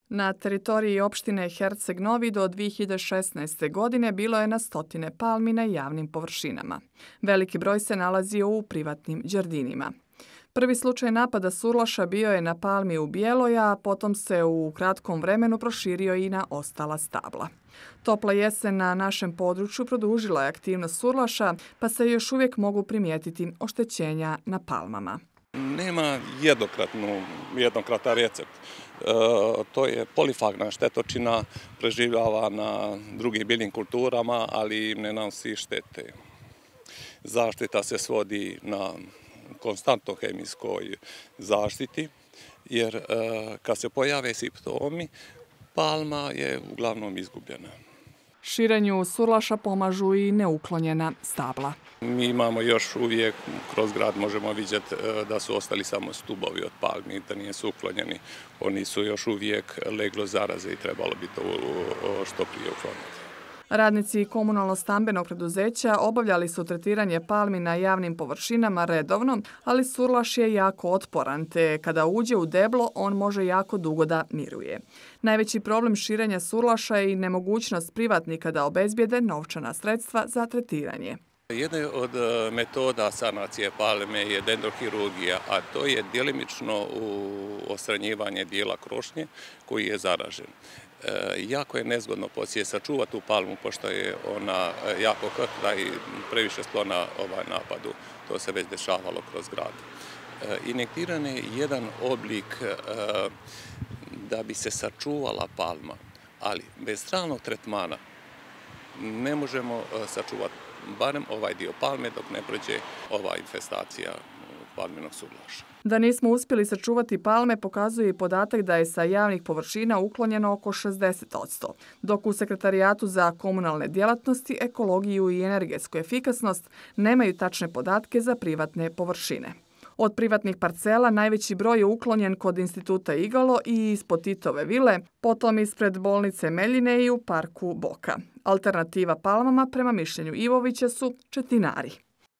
Na teritoriji opštine Herceg Novi do 2016. godine bilo je na stotine palmi na javnim površinama. Veliki broj se nalazio u privatnim đardinima. Prvi slučaj napada surlaša bio je na palmi u Bijeloj, a potom se u kratkom vremenu proširio i na ostala stabla. Topla jesen na našem području produžila je aktivnost surlaša, pa se još uvijek mogu primijetiti oštećenja na palmama. Nema jednokratan recept. To je polifagna štetočina, preživljava na drugim biljnim kulturama, ali ne nanosi štete. Zaštita se svodi na konstantno hemijskoj zaštiti, jer kad se pojave simptomi, palma je uglavnom izgubljena. Širenju surlaša pomažu i neuklonjena stabla. Mi imamo još uvijek, kroz grad možemo vidjeti da su ostali samo stubovi od palmi, da nisu uklonjeni. Oni su još uvijek leglo zaraze i trebalo bi to što prije ukloniti. Radnici komunalno-stambenog preduzeća obavljali su tretiranje palmi na javnim površinama redovno, ali surlaš je jako otporan, te kada uđe u deblo, on može jako dugo da miruje. Najveći problem širenja surlaša je i nemogućnost privatnika da obezbijede novčana sredstva za tretiranje. Jedna od metoda sanacije palme je dendrohirurgija, a to je djelimično odstranjivanje dijela krošnje koji je zaražen. Jako je nezgodno poslije sačuvati tu palmu, pošto je ona jako krhka i previše sklona napadu. To se već dešavalo kroz grad. Injektiranje je jedan oblik da bi se sačuvala palma, ali bez stalnog tretmana ne možemo sačuvati barem ovaj dio palme dok ne prođe ova infestacija palminog surlaša. Da nismo uspjeli sačuvati palme pokazuje i podatak da je sa javnih površina uklonjeno oko 60%, dok u Sekretarijatu za komunalne djelatnosti, ekologiju i energetsku efikasnost nemaju tačne podatke za privatne površine. Od privatnih parcela najveći broj je uklonjen kod Instituta Igalo i ispod Titove vile, potom ispred bolnice Meljine i u parku Boka. Alternativa palmama, prema mišljenju Ivovića, su četinari.